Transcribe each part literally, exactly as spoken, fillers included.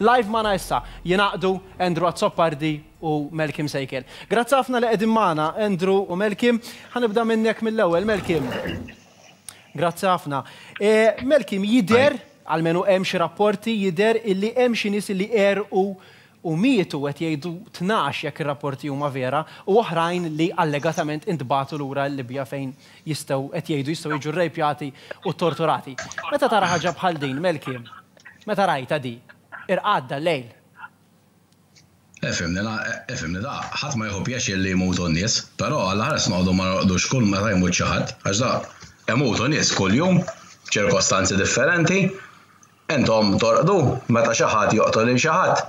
Live magħna issa jingħaqdu Andrew Azzopardi u Malcolm Sejkel. Grazzi ħafna li qegħdin magħna, Andrew u Malcolm. Ħa nibda minnek mill-ewwel, Malcolm. Grazzi ħafna. E, Malcolm, jidher, almenu hemm xi rapporti, jidher illi hemm xi nies illi għerqu u mietu, qed jgħidu tnax jekk ir-rapporti huma vera, u oħrajn li allegatament intbagħtu lura l-Libja fejn jistgħu, qed jgħidu, jistgħu jiġu rrejpjati u torturati. Meta tara ħaġa bħal din, Malcolm, meta rajta di, irqadt dal-lejl? Ifhimni, ifhimni da, ħadd ma jieħu pjaċir li jmutu n-nies, però għal ħares noqogħdu ma norqdux kull meta jmut xi ħadd, għax da imutu nies kuljum f'ċirkostanzi differenti, intom torqdu meta xi ħadd joqtol lil xi ħadd.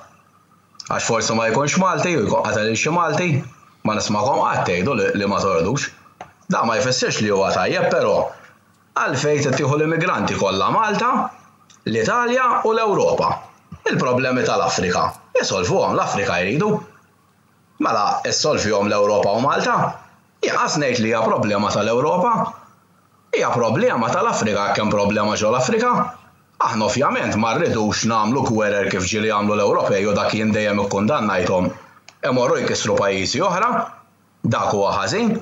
Għax forsi ma jkunx Malti u jkun qatel lil xi Malti, ma nismakom qatt tgħidu li ma torqdux. Da ma jfissirx li huwa tajjeb, però għalfejn tittieħu l-immigranti kollha Malta, l-Italja u l-Ewropa? Il-problemi tal-Afrika isolvuhom l-Afrika jridu. Mela issolvihom l-Ewropa u Malta. Jaqas ngħid li hija problema tal-Ewropa. Hija problema tal-Afrika, kemm problema ġo l-Afrika. Aħna ovvjament ma rridux nagħmlu gwerer kif ġieli jagħmlu l-Ewropej u dak jien dejjem ikkundannajthom. Imorru jkissru pajjiżi oħra, dak huwa ħażin,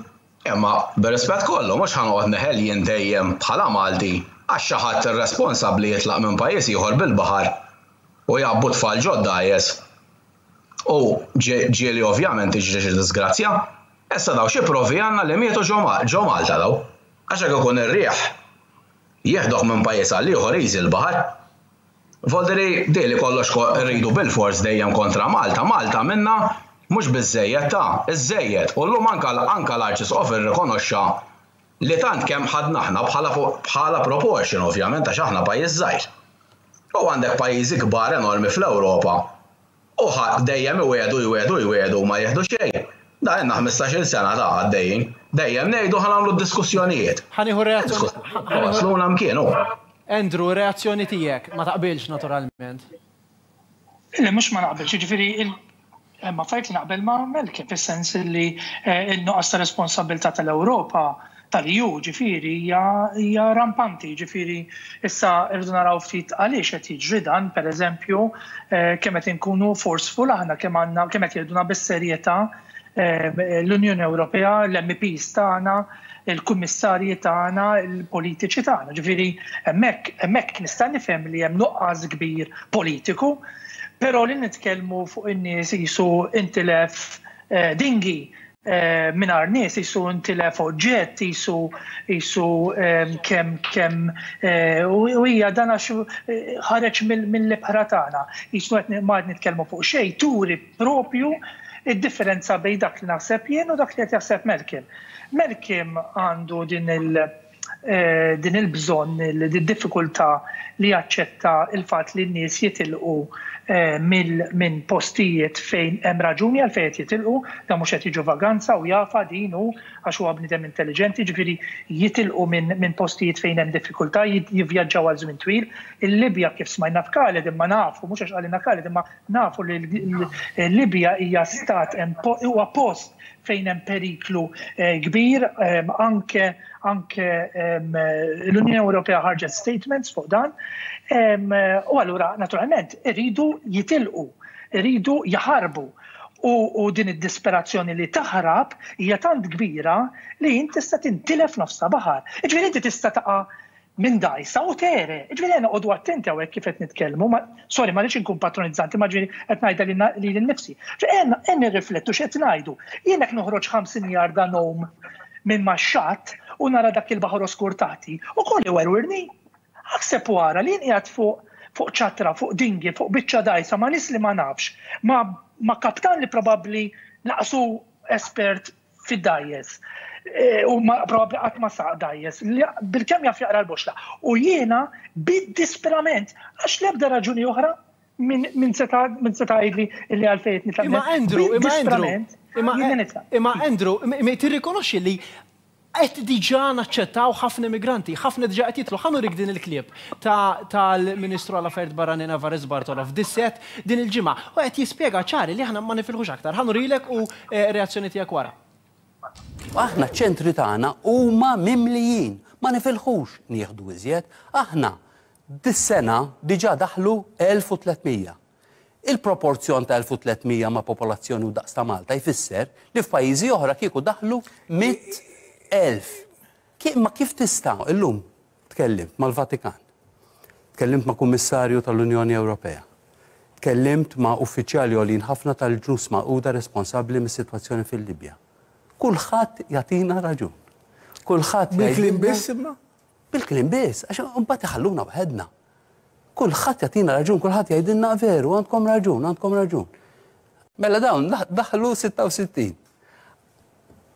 imma bir-rispett kollu mhux ħa noqgħod neħel jien dejjem bħala Malti għax xi ħadd irresponsabbli jitlaq minn pajjiż ieħor bil-baħar u jgħabbu tfal ġodda jes. U ġieli ovvjament tiġri xi disgrazzja. Issa daw xi provi għandna li mietu ġo Malta daw. Għax hekk ikun ir-riħ jieħdoh minn pajjiż għal ieħor easy l-baħar. Voldiri dili kollox rridu bil-fors dejjem kontra Malta. Malta minna mhux biżejjed ta' iżejjed. U llum anka anka l-Arċisqof irrikonoxxa li tant kemm ħadna aħna bħala bħala proportion, ovvjament, għax aħna pajjiż żgħir. U għandek pajjiżi kbar enormi fl-Ewropa. U dejjem iwiegħdu, jwiegħdu, jwiegħdu u ma jieħdu xejn. Da għandna ħmistax-il sena ta' għaddejjin. Dejjem ngħidu ħa nagħmlu diskussjonijiet. Ħa nieħu reazzjoni. Wasluna mkienu. Andrew, reazzjoni tiegħek, ma taqbilx naturalment. Le, mhux ma naqbilx, jiġifieri hemm affarijiet li naqbel ma' Malcolm, fis-sens li n-nuqqas ta' responsabilità tal-Ewropa, tal-E U, ġifieri hija rampanti, ġifieri issa rridu naraw ftit għaliex qed jiġri dan, pereżempju, kemm qed inkunu forceful aħna, kemm għandna, kemm qed jgħiduna bis-serjetà l-Unjoni Ewropea, l-M Ps tagħna, il-kummissarji tagħna, il-politiċi tagħna. Ġifieri hemmhekk hemmhekk nista' nifhem li hemm nuqqas kbir politiku, però li nitkellmu fuq in-nies jisu intilef dinghy mingħajr nies, jisu intilef oġġett, jisu jisu kemm kemm u hija dan għax ħareġ mill-ibħra tagħna. Jisu qed ma qed nitkellmu fuq xejn, turi propju id-differenza bejn dak li naħseb jien u dak li qed jaħseb Malcolm. Malcolm għandu din il- din il-bżonn, il-diffikultà li jaċċetta il-fatt li n-nies jitilqu minn postijiet fejn hemm raġuni għal fejn qed jitilqu, da mhux qed jiġu vaganza u jafa din hu għax huwa bniedem intelligenti, ġifieri jitilqu minn postijiet fejn hemm diffikultà, jivvjaġġaw għal żmien twil. Il-Libja, kif smajna f'Khaled, imma nafu, mhux għax qalilna Khaled, imma nafu li l-Libja hija stat, huwa post fejn hemm periklu kbir, anke anke l-Unjoni Ewropea ħarġet statements fuq dan. U allura naturalment iridu jitilqu, iridu jaħarbu. U din id-disperazzjoni li taħrab hija tant kbira li inti tista' tintilef nofs ta' baħar. Ġifieri inti tista' taqa' minn dajsa u tegħreq. Ġifieri għandna noqogħdu attenti hawnhekk kif qed nitkellmu, sorry, ma rridx inkun patronizzanti, ma ġifieri qed ngħidha lili nnifsi. Ejja nirriflettu x'qed ngħidu. Jien hekk noħroġ ħamsin jarda ngħum minn max-xatt u nara dak il-baħar oskur taħti u kolli werwirni. Aħseb wara li qiegħed fuq fuq ċatra, fuq dinghy, fuq biċċa dajsa ma' nies li ma nafx, ma, ma kaptan li probabbli naqsu espert fid-dajjes. E, u ma probabbli qatt ma saq dajjes, bil-kemm jaf jaqra l-boxla. U jiena bid-disperament, għax l-ebda raġuni oħra minn min seta' min seta' jgħidli li għalfejn nitlaq. Imma Andrew, imma Andrew, imma imma Andrew, tirrikonoxxi li qed diġà naċċettaw ħafna immigranti, ħafna diġà qed jitlu. Ħa nurik din il-clip tal-Ministru għal Affarijiet Barranin Evarist Bartolo f'Dissett din il-ġimgħa u qed jispjega ċari li aħna ma nifilħux aktar. Ħa nurilek u eh, reazzjoni tiegħek wara. Aħna ċentri tagħna huma mimlijin, ma nifilħux nieħdu iżjed. Aħna dis-sena diġà daħlu elf u tliet mija. Il-proporzjon ta' elf u tliet mija ma' popolazzjoni u daqs ta' Malta jfisser li f'pajjiżi oħra kieku daħlu mitt elf. Ma kif tista' illum tkellimt mal-Vatikan, tkellimt ma' Kummissarju tal-Unjoni Ewropea, tkellimt ma' uffiċjali għolin ħafna tal-Ġnus Magħquda responsabbli mis-sitwazzjoni fil-Libja. Kulħadd jagħtina raġun. Kulħadd bil-kliem biss imma? Bil-kliem biss, għax imbagħad iħalluna waħedna. Kulħadd jagħtina raġun, kulħadd jgħidilna veru, għandkom raġun, għandkom raġun. Mela dawn daħlu sitta u sittin.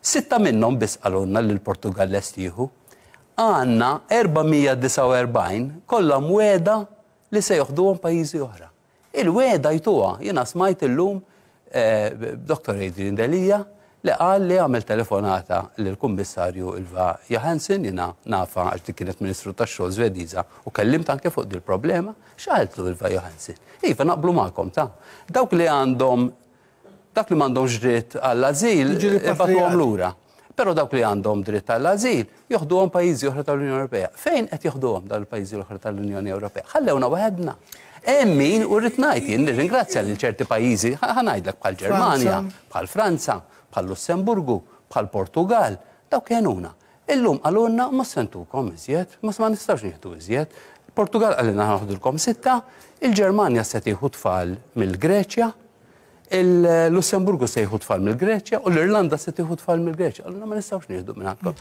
Sitta minnhom biss qalulna li l-Portugal lest jieħu. Għandna erba' mija disgħa u erbgħin kollha mweda li se joħduhom pajjiżi oħra. Il-weda jtuha, jiena smajt illum Doktor Adrian Delia li qal li għamel telefonata lill-Kummissarju Ylva Johansson, jiena nafa għax dik kienet Ministru tax-Xogħol Svediża u kellimt anke fuq dil problema, x'qaltlu Ylva Johansson? Iva naqblu magħkom ta' dawk li għandhom dak li m'għandhomx dritt għall-ażil ibatuhom lura. Però dawk li għandhom dritt għall-ażil joħduhom pajjiżi oħra tal-Unjoni Ewropea. Fejn qed joħduhom dawn il-pajjiżi l-oħra tal-Unjoni Ewropea? Ħallewna waħedna. Hemm min u rrid ngħid jien nirringrazzja lil ċerti pajjiżi, ħa ngħidlek bħal Ġermanja, bħal Franza, bħal Lussemburgu, bħal Portugal, dawk kienuna. Illum qalulna ma sentukom iżjed, ma nistgħux nieħdu iżjed. Portugal qalilna ħaħdulkom sitta, il-Ġermanja se tieħu tfal mill-Greċja, il-Lussemburgu se jieħu tfal mill-Greċja u l-Irlanda se tieħu tfal mill-Greċja. Qalulna ma nistgħux nieħdu minn għandkom.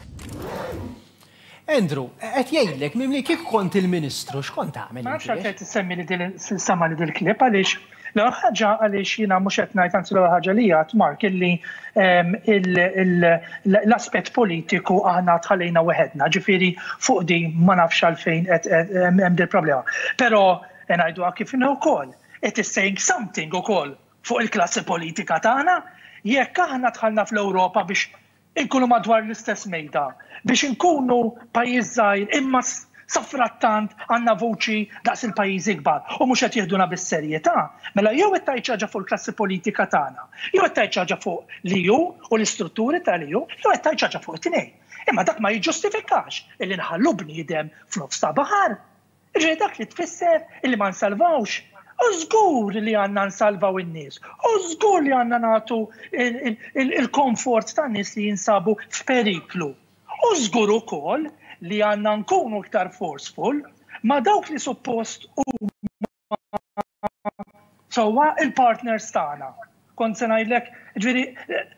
Andrew, qed jgħidlek mimli kif kont il-Ministru, x'kont tagħmel? Ma nafx għalfejn tissemmi li din sama li dil-klip għaliex l-ewwel ħaġa għaliex jiena mhux qed ngħid, anzi l-ewwel ħaġa li għad Mark illi l-aspett politiku aħna tħallejna weħedna, ġifieri fuq din ma nafx għalfejn qed hemm dil problema. Però ngħiduha kif inhu wkoll, it is saying something ukoll fuq il-klassi politika tagħna, jekk aħna dħalna fl-Ewropa biex inkunu madwar l-istess mejda, biex inkunu pajjiż żgħir imma safrattant għandna voċi daqs il-pajjiżi kbar u mhux qed jieħduna bis-serjetà, mela jew qed tgħid xi ħaġa fuq il-klassi politika tagħna, jew qed tgħid xi ħaġa fuq l-E U u l-istrutturi tal-E U, jew qed tgħid xi ħaġa fuq it-tnejn. Imma dak ma jiġġustifikax illi nħallu bniedem f'nofs ta' baħar. Ġej dak li tfisser illi ma nsalvawx. U żgur li għandna nsalvaw in-nies, u żgur li għandna nagħtu il-komfort tan-nies li jinsabu f'periklu. U żgur ukoll li għandna nkunu iktar forceful ma' dawk li suppost huma sewwa il-partners tagħna. Kont se ngħidlek, ġifieri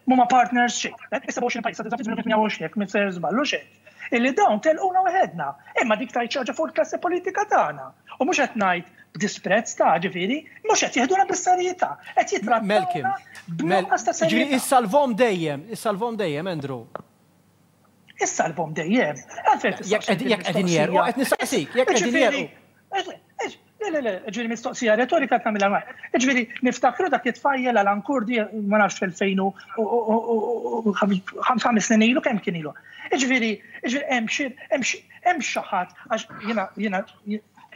huma partners xejn. Issa għoxrin pajjiż, sa tmien u għoxrin, jekk m'ser żballu xejn. Illi dawn telquna waħedna, imma dik tgħid xi ħaġa fuq il-klassi politika tagħna. U mhux qed ngħid b'disprezz ta' ġifieri, mhux qed jieħduna bis-serjetà, qed jitrattawna b'nuqqas ta' serjetà. Ġifieri issalvhom dejjem, issalvhom dejjem, Andrew. Issalvhom dejjem. Jekk qegħdin jerqu, qed nistaqsik, jekk qegħdin jerqu. Le, le, le, ġifieri mistoqsija retorika tagħmilha ma. Ġifieri niftakru dak it-tfajjel Alan Kurdi, ma nafx fil-fejn u ħames snin ilu kemm kien ilu. Ġifieri, ġifieri hemm xi hemm xi ħadd għax jiena jiena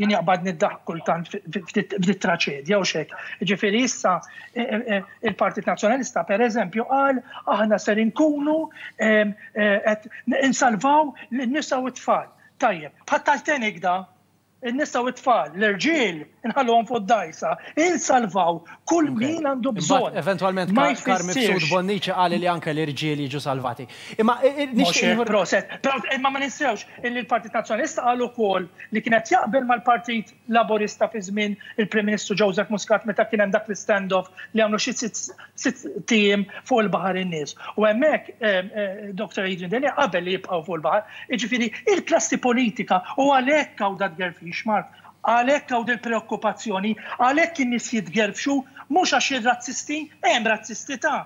jien jaqbad niddaħ kultant ftit traċedja u xek. Ġifieri issa il-Partit Nazzjonalista pereżempju qal aħna ser inkunu qed insalvaw lin-nisa u t-tfal. Tajjeb, bħal Titanic da, in-nisa u t-tfal, l-irġiel inħalluhom fuq d-dajsa, insalvaw kull min għandu bżonn. Eventualment Carm Mifsud Bonnici qal li anke l-irġiel jiġu salvati. Imma nixtieq proset, imma ma ninsewx illi l-Partit Nazzjonalista qal ukoll li kienet jaqbel mal-Partit Laburista fi żmien il-Prim Ministru Joseph Muscat meta kien hemm dak l-standoff li għamlu xi sitt tim fuq il-baħar in-nies. U hemmhekk Doktor Adrian Delia qabel li jibqgħu fuq il-baħar, jiġifieri il-klassi politika u għalhekk hawn dat gerfix, Mark, għalhekk hawn dil-preokkupazzjoni, għalhekk in-nies jitgerfxu mhux għax ir-razzisti, hemm razzisti ta'.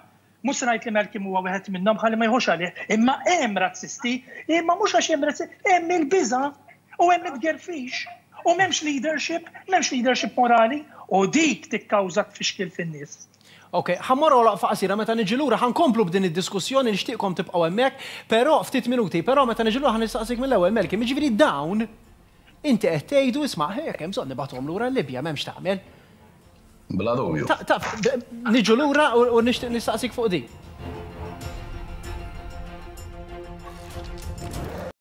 Mhux se ngħid li Malcolm huwa wieħed minnhom ħalli ma jħux għalih, imma hemm razzisti, imma mhux għax hemm razzisti, hemm il-biża' u hemm it-gerfix u m'hemmx leadership, m'hemmx leadership morali u dik tikkawża tfixkil fin-nies. Ok, ħammorru waqfa qasira meta niġi lura ħankomplu b'din id-diskussjoni nixtieqkom tibqgħu hemmhekk, però ftit minuti, però meta niġi lura ħanistaqsik mill-ewwel Malcolm, jiġifieri dawn inti qed tgħidu isma' hekk hemm bżonn nibgħathom lura l-Libja m'hemmx tagħmel. Bla dubju. Niġu lura u nixtieq nistaqsik fuq din.